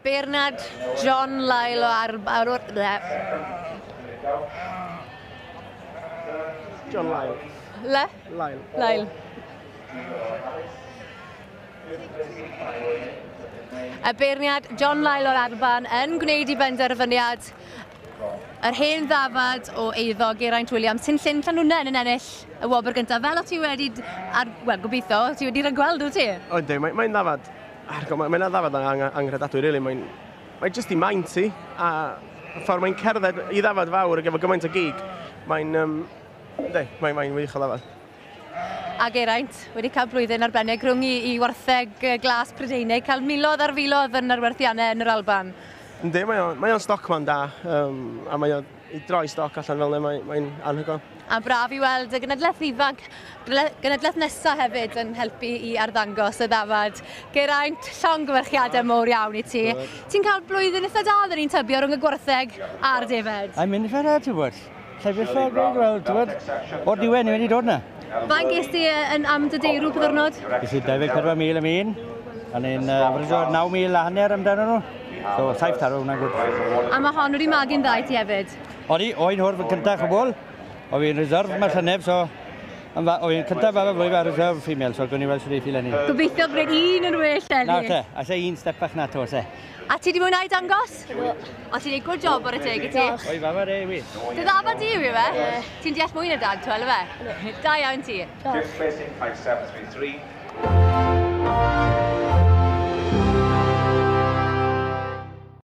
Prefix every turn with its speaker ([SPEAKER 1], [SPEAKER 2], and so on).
[SPEAKER 1] Beirniad John Lyle o ar... ar, ar
[SPEAKER 2] John Lyle.
[SPEAKER 1] Le?
[SPEAKER 2] Lyle.
[SPEAKER 1] Lyle. Y beirniad John Lyle o'r Alban yn gwneud i benderfyniad yr hen ddafad o eiddo Geraint Williams, sy'n Llyn Llanwnnen yn ennill y wobr gyntaf. Fel o ti wedi, ar, wel, gobeithio, ti wedi rhagweld, wyt ti?
[SPEAKER 2] O, yndi, mae'n mae ddafad, mae'n mae ddafad ang anghredadwy, really. Mae'n mae jyst i maint i, a y ffordd mae'n cerdded i ddafad fawr ac efo gymaint o gig, mae'n, yndi, mae'n mae wych o ddafad.
[SPEAKER 1] A Geraint, wedi cael blwyddyn arbennig rhwng i, i wartheg glas Prydeinig, cael miloedd ar filoedd yn arwerthiannau yn yr Alban.
[SPEAKER 2] Yndi, mae o'n mae o'n stockman da, a mae o'n i droi stoc allan fel yna, mae'n mae anhygoel.
[SPEAKER 1] A braf i weld y genedlaeth ifanc, genedlaeth nesaf hefyd yn helpu i arddangos y ddafad. Geraint, llongyfarchiadau mowr iawn i ti. Ti'n cael blwyddyn eitha da, dyn ni'n tybio, rhwng y gwartheg a'r defed.
[SPEAKER 3] Mae'n mynd i ffyr, ti'n gwybod. Lle beth o'r gweud, wel, ti'n gwybod, o'r diwedd ni wedi dod na.
[SPEAKER 1] Faint ges ti yn am dy deirw pa ddwrnod?
[SPEAKER 3] Ges i 24,000 am un, a ni'n average o 9,000 a hanner amdano nhw. So, saith tarw, hwnna'n gwrdd.
[SPEAKER 1] A mae hon wedi magu'n dda i ti hefyd?
[SPEAKER 3] Odi, oen hwr fy cyntaf chwbl. O fi'n reserve mae'r llynedd, so... O fi'n cyntaf ar y flwydd ar reserve female, so gwni weld sydd ei ffil
[SPEAKER 1] Gobeithio gwneud un yn well eleni.
[SPEAKER 3] Nawr te, a se un step bach na to, se.
[SPEAKER 1] A ti di mwynhau dangos? O, ti'n neud good job ar y teg i ti.
[SPEAKER 3] Oi, fafa re, wi.
[SPEAKER 1] Dy ddafad di yw e? Ti'n deall mwy na dad, twel, efe? Da iawn ti.
[SPEAKER 4] Fifth placing, 5733.